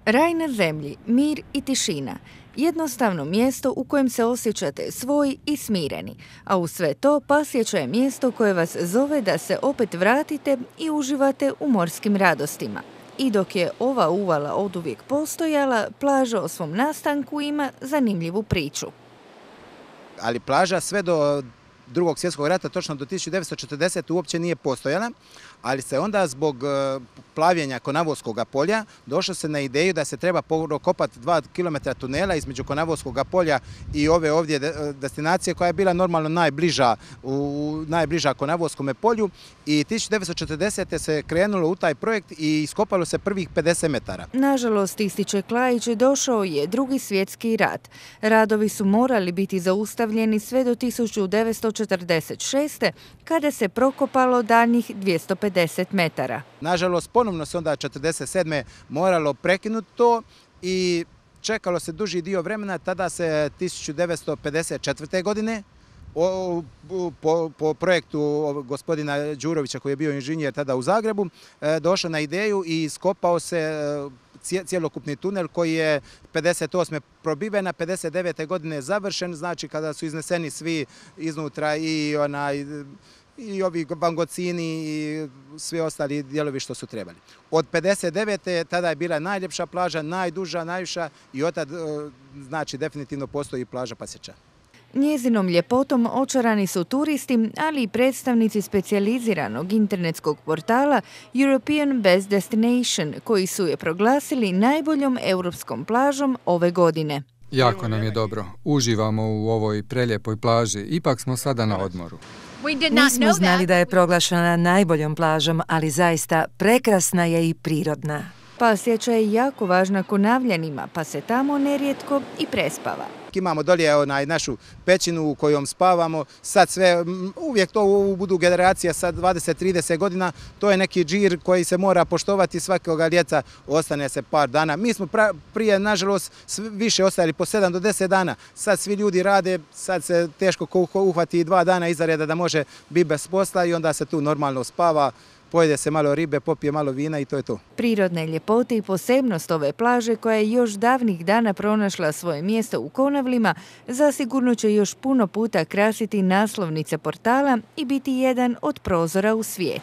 Raj na zemlji, mir i tišina. Jednostavno mjesto u kojem se osjećate svoj i smireni, a uz sve to Pasječa je mjesto koje vas zove da se opet vratite i uživate u morskim radostima. I dok je ova uvala oduvijek postojala, plaža o svom nastanku ima zanimljivu priču. Ali plaža sve do Drugog svjetskog rata, točno do 1940. uopće nije postojala, ali se onda zbog plavljenja Konavoskog polja došlo se na ideju da se treba prokopati 2 km tunela između Konavoskog polja i ove ovdje destinacije koja je bila normalno najbliža Konavoskom polju, i 1940. se krenulo u taj projekt i iskopalo se prvih 50 metara. Nažalost, ističe Klajić, došao je Drugi svjetski rat. Radovi su morali biti zaustavljeni sve do 1946. kada se prokopalo daljnjih 250 metara. Nažalost, ponovno se onda 1947. moralo prekinuti to i čekalo se duži dio vremena. Tada se 1954. godine po projektu gospodina Đurovića, koji je bio inženjer tada u Zagrebu, došao na ideju i iskopao se cjelokupni tunel koji je 58. probiven, a 59. godine završen, znači kada su izneseni svi iznutra i ovi bangocini i svi ostali dijelovi što su trebali. Od 59. tada je bila najljepša plaža, najduža, najviša, i od tada znači definitivno postoji plaža Pasječa. Njezinom ljepotom očarani su turisti, ali i predstavnici specijaliziranog internetskog portala European Best Destination, koji su je proglasili najboljom europskom plažom ove godine. Jako nam je dobro. Uživamo u ovoj preljepoj plaži. Ipak smo sada na odmoru. Nismo znali da je proglašena najboljom plažom, ali zaista prekrasna je i prirodna. Pasječa je jako važna Konavljanima, pa se tamo nerijetko i prespava. Imamo dolje našu pećinu u kojom spavamo, sad sve, uvijek to budu generacija sad 20-30 godina, to je neki džir koji se mora poštovati svakoga ljeta, ostane se par dana. Mi smo prije, nažalost, više ostajali po 7 do 10 dana, sad svi ljudi rade, sad se teško uhvati 2 dana iza reda da može biti bez posla i onda se tu normalno spava. Pojede se malo ribe, popije malo vina i to je to. Prirodne ljepote i posebnost ove plaže, koja je još davnih dana pronašla svoje mjesto u Konavlima, zasigurno će još puno puta krasiti naslovnice portala i biti jedan od prozora u svijet.